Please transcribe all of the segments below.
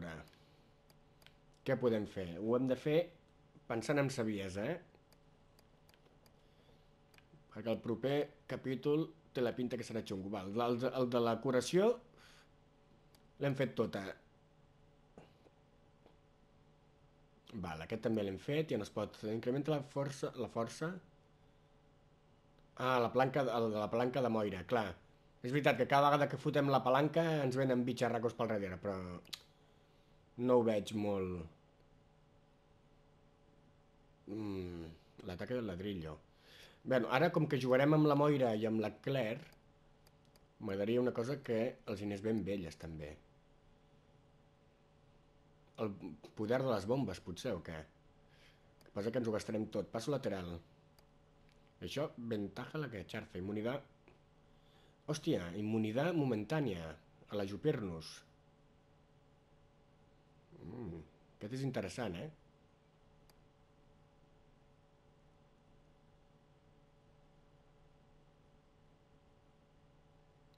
veure. Què podem fer? Ho hem de fer pensant en saviesa, perquè el proper capítol té la pinta que serà xungo. Val, el de la curació l'hem fet tota. Val, aquest també l'hem fet i on es pot incrementa la força. Ah, la palanca de Moira, clar. És veritat que cada vegada que fotem la palanca ens venen bitxarracos pel darrere, però no ho veig molt. L'ataque del ladrillo. Bé, ara com que jugarem amb la Moira i amb la Claire, m'agradaria una cosa que els anés ben velles també. El poder de les bombes, potser, o què? El que passa que ens ho gastarem tot. Passo lateral. Això, ventaja la que xarfa. Immunitat. Hòstia, immunitat momentània. A l'ajupir-nos. Aquest és interessant,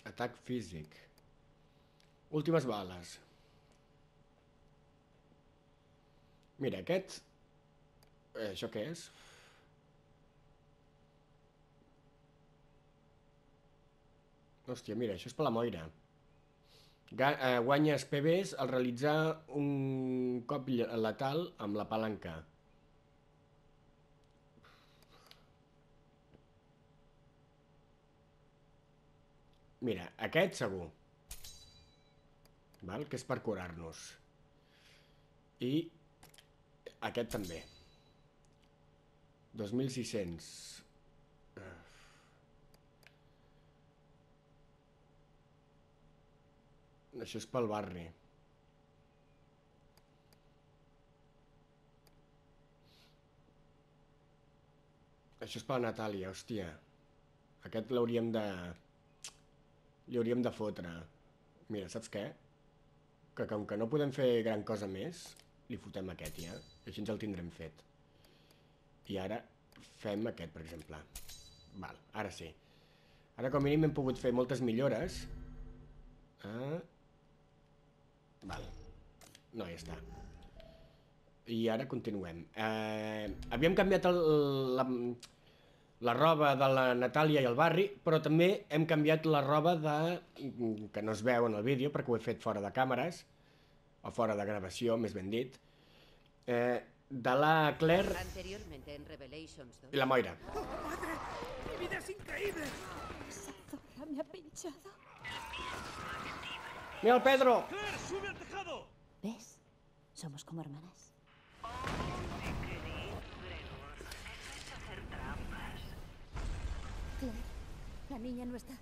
Atac físic. Últimes bales. Mira, aquest... això què és? Hòstia, mira, això és per la Moira. Guanyes PBs al realitzar un cop letal amb la palanca. Mira, aquest segur. Val? Que és per curar-nos. I aquest també. 2.600. Això és pel barri. Això és per la Natàlia, hòstia. Aquest l'hauríem de... li hauríem de fotre. Mira, saps què? Que com que no podem fer gran cosa més, li fotem aquest ja. I així ens el tindrem fet. I ara fem aquest, per exemple. Val, ara sí. Ara com a mínim hem pogut fer moltes millores. Val. No, ja està. I ara continuem. Havíem canviat la roba de la Natàlia i el barri, però també hem canviat la roba de... que no es veu en el vídeo, perquè ho he fet fora de càmeres, o fora de gravació, més ben dit, de la Claire y la Moira. ¡Oh, madre! ¡Mi vida es increíble! Esa zorra me ha pinchado. ¡Mira el Pedro! ¡Claire, sube al tejado! ¿Ves? Somos como hermanas. Claire, la niña no está.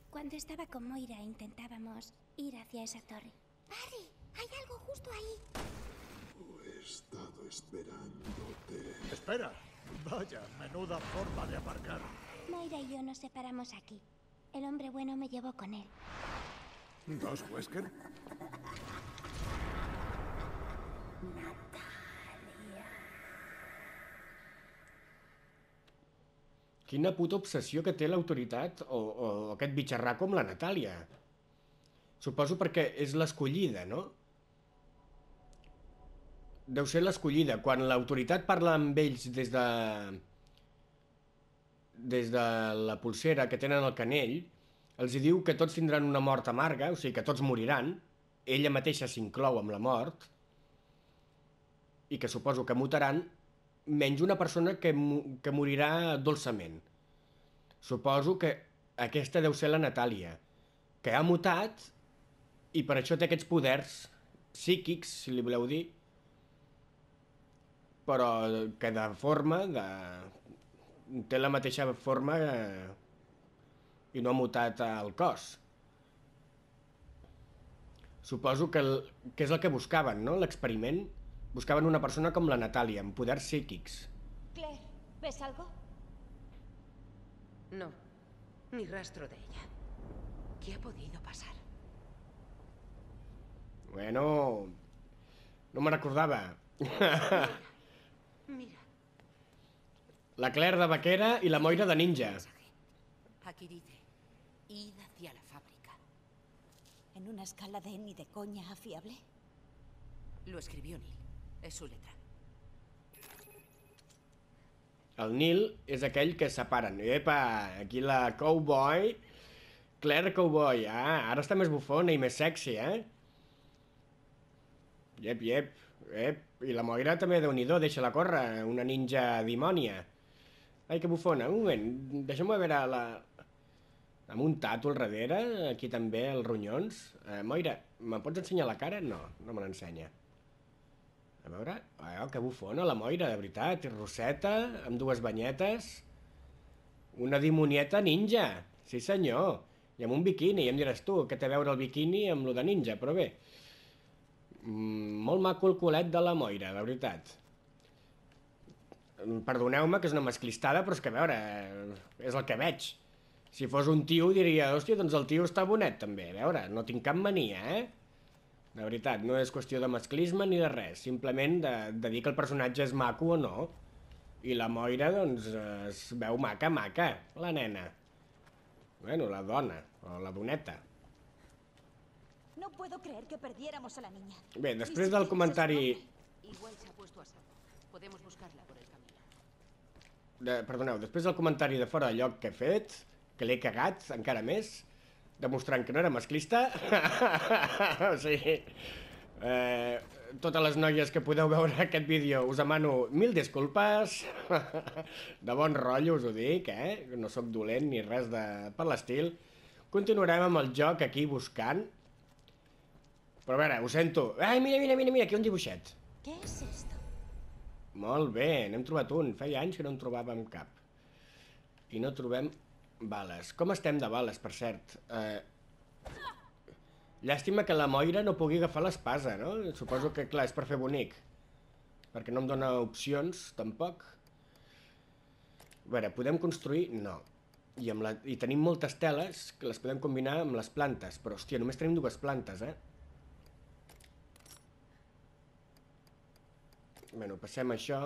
Cuando estaba con Moira intentábamos ir hacia esa torre. ¡Barry! ¡Hay algo justo ahí! He estado esperándote. ¡Espera! Vaya, menuda forma de aparcar. Moira y yo nos separamos aquí. El hombre bueno me llevó con él. ¿Dos Wesker? Quina puta obsessió que té l'autoritat o aquest bitxarraco amb la Natàlia. Suposo perquè és l'escollida, no? Deu ser l'escollida. Quan l'autoritat parla amb ells des de la pulsera que tenen al canell, els hi diu que tots tindran una mort amarga, o sigui que tots moriran, ella mateixa s'inclou amb la mort, i que suposo que mutaran, menys una persona que morirà dolçament. Suposo que aquesta deu ser la Natàlia, que ha mutat i per això té aquests poders psíquics, si li voleu dir, però que de forma, té la mateixa forma i no ha mutat el cos. Suposo que és el que buscaven, no? L'experiment. Buscaven una persona com la Natàlia, amb poders psíquics. Claire, ¿ves algo? No, ni rastro de ella. ¿Qué ha podido pasar? Bueno, no me recordava. Mira. La Claire de vaquera i la Moira de ninja. Aquí dice, id hacia la fábrica. ¿En una escala de ni de coña a fiable? Lo escribió Neil. Es su letra. El Neil és aquell que separen. Epa, aquí la cowboy. Claire Cowboy. Ah, ara està més bufona i més sexy, eh? Iep. I la Moira també, Déu-n'hi-do, deixa-la córrer. Una ninja dimònia. Ai, que bufona. Un moment, deixa'm veure la... Amb un tatu al darrere, aquí també, els ronyons. Moira, me pots ensenyar la cara? No, no me l'ensenya. A veure... Oh, que bufona la Moira, de veritat. I roseta, amb dues banyetes. Una dimonieta ninja. Sí, senyor. I amb un biquini. I em diràs tu, què té a veure el biquini amb lo de ninja? Però bé. Molt maco el culet de la Moira, de veritat. Perdoneu-me, que és una masclistada, però és que, a veure, és el que veig. Si fos un tio diria, hòstia, doncs el tio està bonet també. A veure, no tinc cap mania, eh? De veritat, no és qüestió de masclisme ni de res. Simplement de dir que el personatge és maco o no. I la Moira, doncs, es veu maca, la nena. Bueno, la dona, o la doneta. No puedo creer que perdiéramos a la niña. Bé, després del comentari... Igual se ha puesto a salvo. Podemos buscarla por el camino. Perdoneu, després del comentari de fora de lloc que he fet, que l'he cagat encara més, demostrant que no era masclista. O sigui, totes les noies que podeu veure aquest vídeo us demano 1000 disculpes. De bon rotllo us ho dic, no sóc dolent ni res per l'estil. Continuarem amb el joc aquí buscant. Però a veure, ho sento. Ai, mira, aquí un dibuixet. ¿Qué es esto? Molt bé, n'hem trobat un. Feia anys que no en trobàvem cap. I no trobem bales. Com estem de bales, per cert? Llàstima que la Moira no pugui agafar l'espasa, no? Suposo que, clar, és per fer bonic. Perquè no em dona opcions, tampoc. A veure, podem construir? No. I tenim moltes teles que les podem combinar amb les plantes. Però, hòstia, només tenim 2 plantes, eh? Bueno, passem això.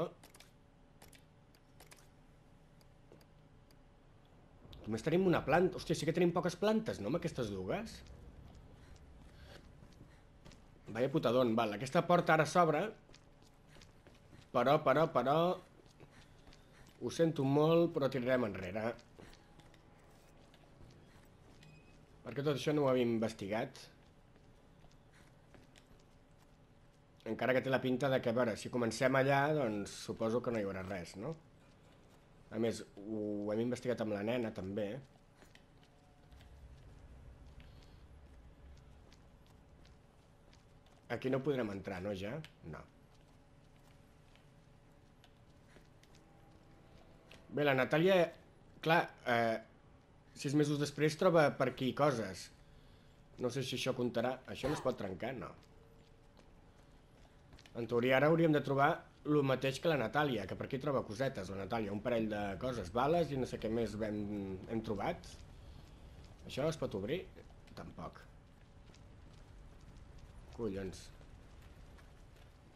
Només tenim una planta. Hòstia, sí que tenim poques plantes, no, amb aquestes 2? Vaya putadón. Val, aquesta porta ara s'obre. Però... Ho sento molt, però tirarem enrere. Perquè tot això no ho havíem investigat. Encara que té la pinta de que, a veure, si comencem allà, doncs suposo que no hi haurà res, no? A més, ho hem investigat amb la nena, també. Aquí no podrem entrar, no, ja? No. Bé, la Natàlia... Clar, 6 mesos després troba per aquí coses. No sé si això comptarà. Això no es pot trencar? No. En teoria ara hauríem de trobar el mateix que la Natàlia, que per aquí troba cosetes, la Natàlia, un parell de coses, bales i no sé què més hem trobat. Això es pot obrir? Tampoc. Collons.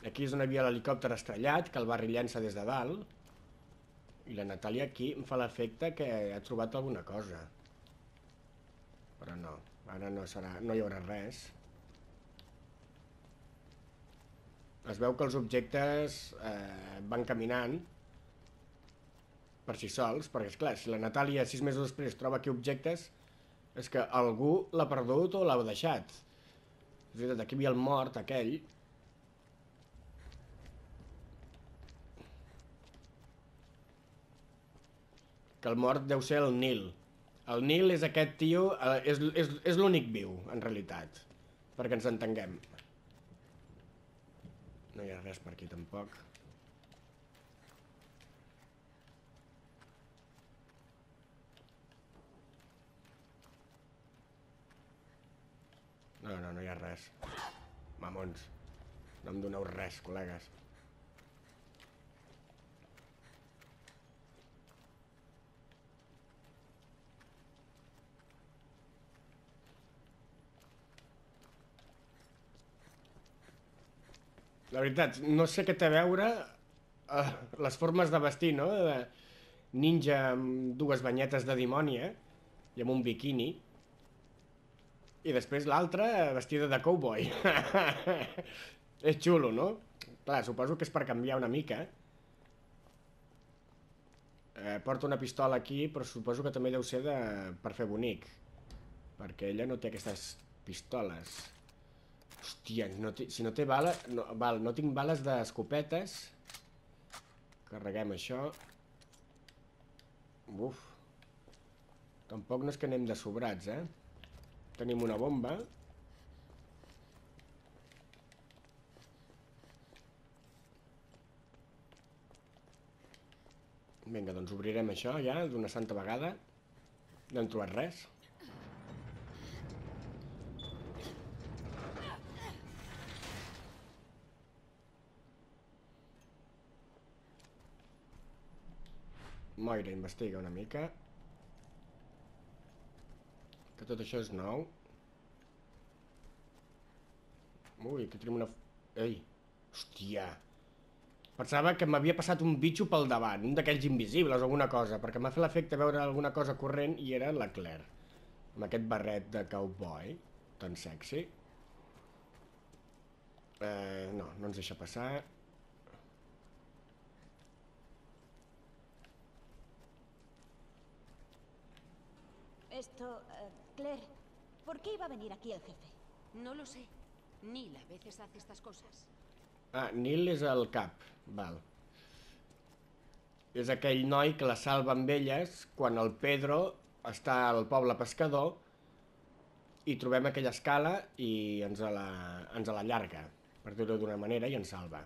Aquí és on hi havia l'helicòpter estrellat, que el Barry llença des de dalt. I la Natàlia aquí em fa l'efecte que ha trobat alguna cosa. Però no, ara no hi haurà res. Es veu que els objectes van caminant per si sols, perquè, esclar, si la Natàlia 6 mesos després troba aquí objectes, és que algú l'ha perdut o l'ha deixat. És veritat, aquí hi havia el mort, aquell. Que el mort deu ser el Neil. El Neil és aquest tio, és l'únic viu, en realitat, perquè ens entenguem. No hi ha res per aquí, tampoc. No hi ha res. Mamons. No em doneu res, col·legues. La veritat, no sé què té a veure les formes de vestir, no? De ninja amb 2 banyetes de dimònia i amb un biquini. I després l'altra vestida de cowboy. És xulo, no? Clar, suposo que és per canviar una mica. Porta una pistola aquí, però suposo que també deu ser per fer bonic. Perquè ella no té aquestes pistoles. Hòstia, si no té bales... No, val, no tinc bales d'escopetes. Carreguem això. Uf. Tampoc no és que anem de sobrats, Tenim una bomba. Vinga, doncs obrirem això ja d'una santa vegada. No hem trobat res. Moira investiga una mica. Que tot això és nou. Ui, aquí tenim una... Ei, hòstia. Pensava que m'havia passat un bitxo pel davant, un d'aquells invisibles o alguna cosa, perquè m'ha fet l'efecte veure alguna cosa corrent i era la Claire. Amb aquest barret de cowboy, tan sexy. No ens deixa passar. Claire, ¿por qué iba a venir aquí el jefe? No lo sé. Neil a veces hace estas cosas. Ah, Neil és el cap, val. És aquell noi que la salva amb elles quan el Pedro està al poble pescador i trobem aquella escala i ens la llarga, per dir-ho d'una manera, i ens salva.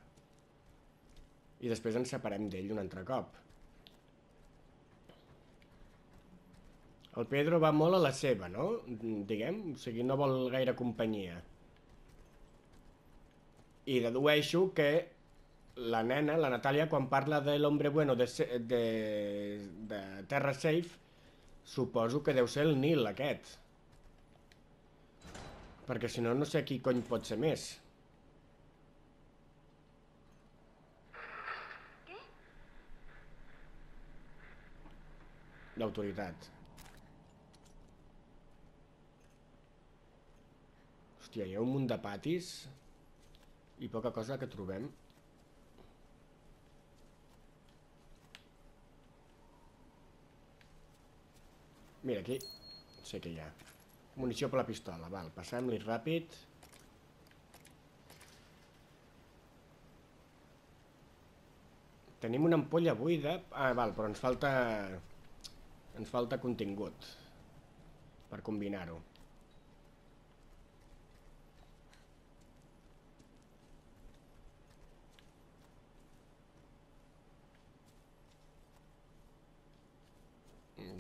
I després ens separem d'ell un altre cop. El Pedro va molt a la seva, no? Diguem, o sigui, no vol gaire companyia. I dedueixo que la nena, la Natàlia, quan parla de l'hombre bueno de Terra Safe, suposo que deu ser el Neil aquest. Perquè si no, no sé qui cony pot ser més. ¿Qué? L'autoritat. Hòstia, hi ha un munt de patis i poca cosa que trobem. Mira, aquí sé que hi ha munició per la pistola. Val, passem-li ràpid. Tenim una ampolla buida. Ah, val, però ens falta contingut per combinar-ho.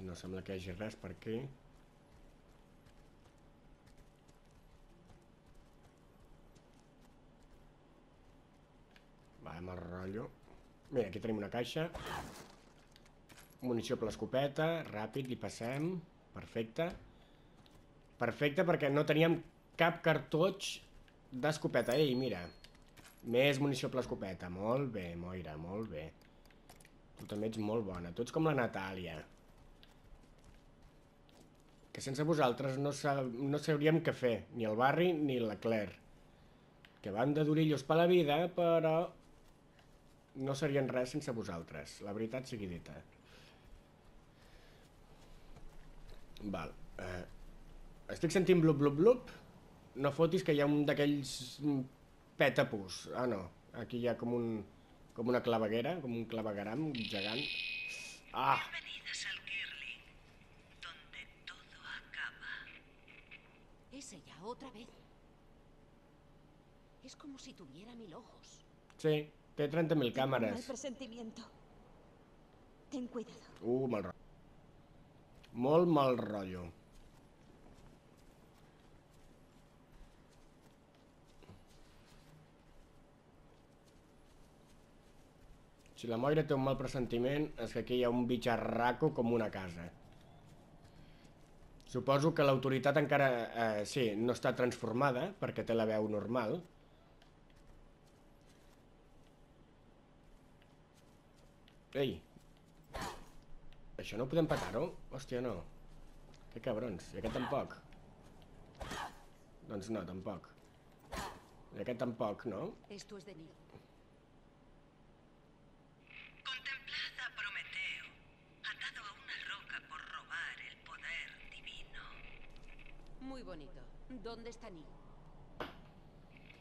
No sembla que hi hagi res per aquí. Va, mal rotllo. Mira, aquí tenim una caixa. Munició per l'escopeta. Ràpid, li passem. Perfecte. Perfecte, perquè no teníem cap cartutx d'escopeta. Ei, mira. Més munició per l'escopeta. Molt bé, Moira, molt bé. Tu també ets molt bona. Tu ets com la Natàlia. Que sense vosaltres no sabríem què fer, ni el Barry ni la Claire. Que van de durillos per la vida, però no serien res sense vosaltres, la veritat sigui dita. Val. Estic sentint blup, blup, blup. No fotis que hi ha un d'aquells petapus. Ah, no. Aquí hi ha com una claveguera, com un clavegueram gegant. Ah! Es ella, otra vez. Es como si tuviera 1000 ojos. Sí, té 30.000 Tengo un càmeres. mal presentimiento. Ten cuidado. Mal rotllo. Molt mal rotllo. Si la Moira té un mal pressentiment, és que aquí hi ha un bitxarraco com una casa. Suposo que l'autoritat encara, sí, no està transformada, perquè té la veu normal. Ei! Això no podem petar-ho? Hòstia, no. Que cabrons, i aquest tampoc. Doncs no, tampoc. I aquest tampoc, no? Esto es de Neil. Contemplad a Prometeo, atado a una roca por robar el poder divino. Muy bonito. ¿Dónde está Neil?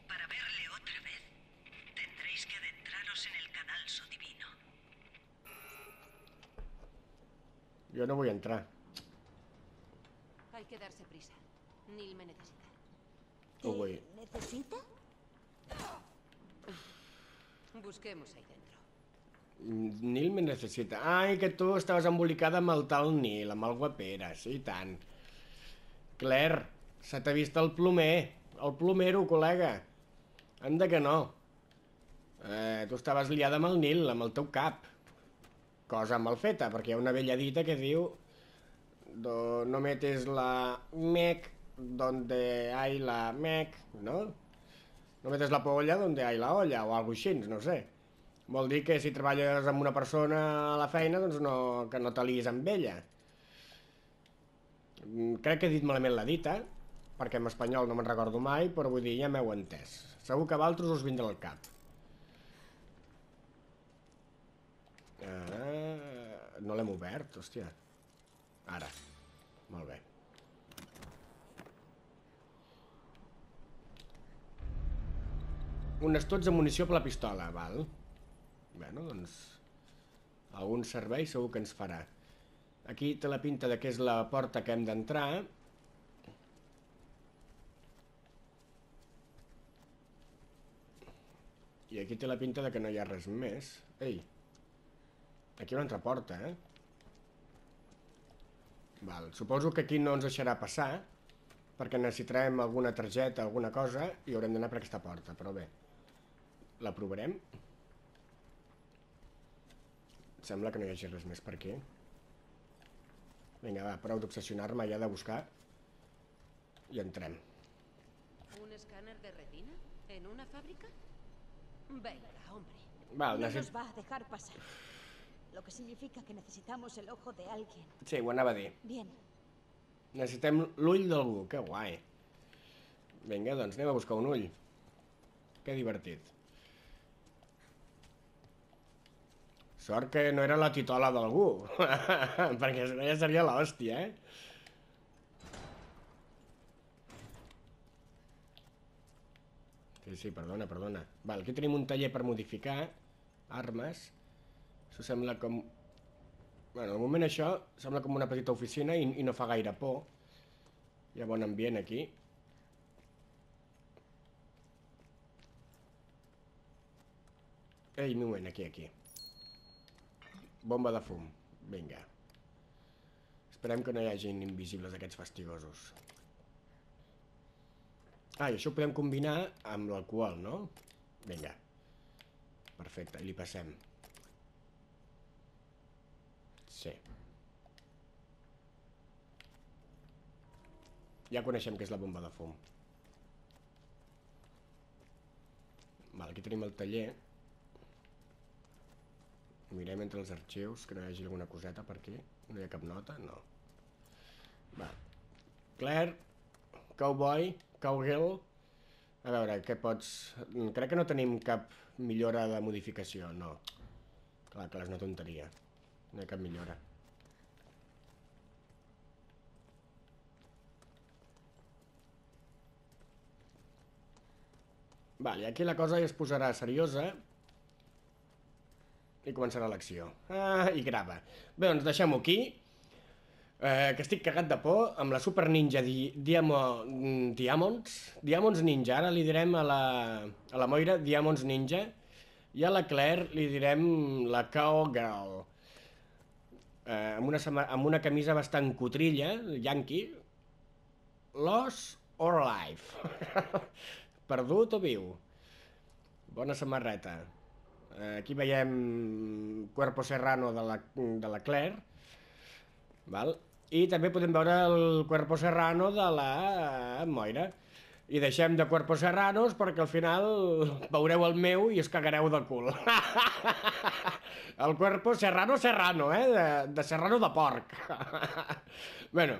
Para verle otra vez, tendréis que adentraros en el cadalso divino. Jo no vull entrar. Hay que darse prisa. Neil me necesita. No vull. ¿Necesita? Busquemos ahí dentro. Nil me necessita. Ai, que tu estaves embolicada amb el tal Nil, amb el guapera, sí, i tant. Claire, se t'ha vist el plomer. El plomero, col·lega. Anda que no. Tu estaves liada amb el Nil, amb el teu cap. Cosa mal feta, perquè hi ha una vella dita que diu no metes la mec donde hay la mec, no? No metes la polla donde hay la olla, o alguna cosa així, no sé. Vol dir que si treballes amb una persona a la feina, doncs que no t'alies amb ella. Crec que he dit malament la dita, perquè en espanyol no me'n recordo mai, però vull dir, ja m'heu entès. Segur que a vosaltres us vindrà al cap. No l'hem obert, hòstia. Ara. Molt bé. Un estoig de munició per la pistola, val? Bueno, doncs... algun servei segur que ens farà. Aquí té la pinta de que és la porta que hem d'entrar. I aquí té la pinta de que no hi ha res més. Ei, aquí hi ha una altra porta, Val, suposo que aquí no ens deixarà passar, perquè necessitarem alguna targeta, alguna cosa, i haurem d'anar per aquesta porta, però bé. La provarem. Sembla que no hi hagi res més per aquí. Vinga, va, prou d'obsessionar-me ja de buscar. I entrem. ¿Un escáner de retina? ¿En una fábrica? Venga, hombre. Val, No nos va a dejar pasar. Lo que significa que necesitamos el ojo de alguien. Sí, ho anava a dir. Bien. Necessitem l'ull d'algú, que guai. Vinga, doncs anem a buscar un ull. Que divertit. Sort que no era la titola d'algú, perquè si no ja seria l'hòstia, Sí, perdona. Val, aquí tenim un taller per modificar armes. Això sembla com... Bueno, de moment això sembla com una petita oficina i no fa gaire por. Hi ha bon ambient aquí. Ei, un moment, aquí. Bomba de fum, vinga. Esperem que no hi hagin invisibles aquests fastigosos. I això ho podem combinar amb l'alcohol, no? Vinga. Perfecte, i li passem. Sí. Ja coneixem què és la bomba de fum. Val, aquí tenim el taller. Mirem entre els arxius, que no hi hagi alguna coseta per aquí. No hi ha cap nota? No. Va. Claire, cowboy, cowgirl. A veure, què pots... Crec que no tenim cap millora de modificació, no. Clar, és una tonteria. No hi ha cap millora. Vale, aquí la cosa ja es posarà seriosa. I començarà l'acció. I grava. Bé, doncs deixem-ho aquí. Que estic cagat de por amb la Super Ninja Diamonds Ninja. Ara li direm a la Moira Diamonds Ninja. I a la Claire li direm la Cowgirl. Amb una camisa bastant cotrilla, yankee. Lost or alive. Perdut o viu. Bona samarreta. Aquí veiem Cuerpo Serrano de la Claire. Val? I també podem veure el Cuerpo Serrano de la Moira. I deixem de Cuerpo Serranos perquè al final veureu el meu i us cagareu de cul. El Cuerpo Serrano, de serrano de porc. Bueno,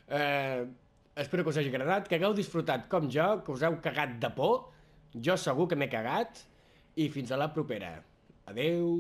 espero que us hagi agradat, que hagueu disfrutat com jo, que us heu cagat de por. Jo segur que m'he cagat i fins a la propera. Adeu!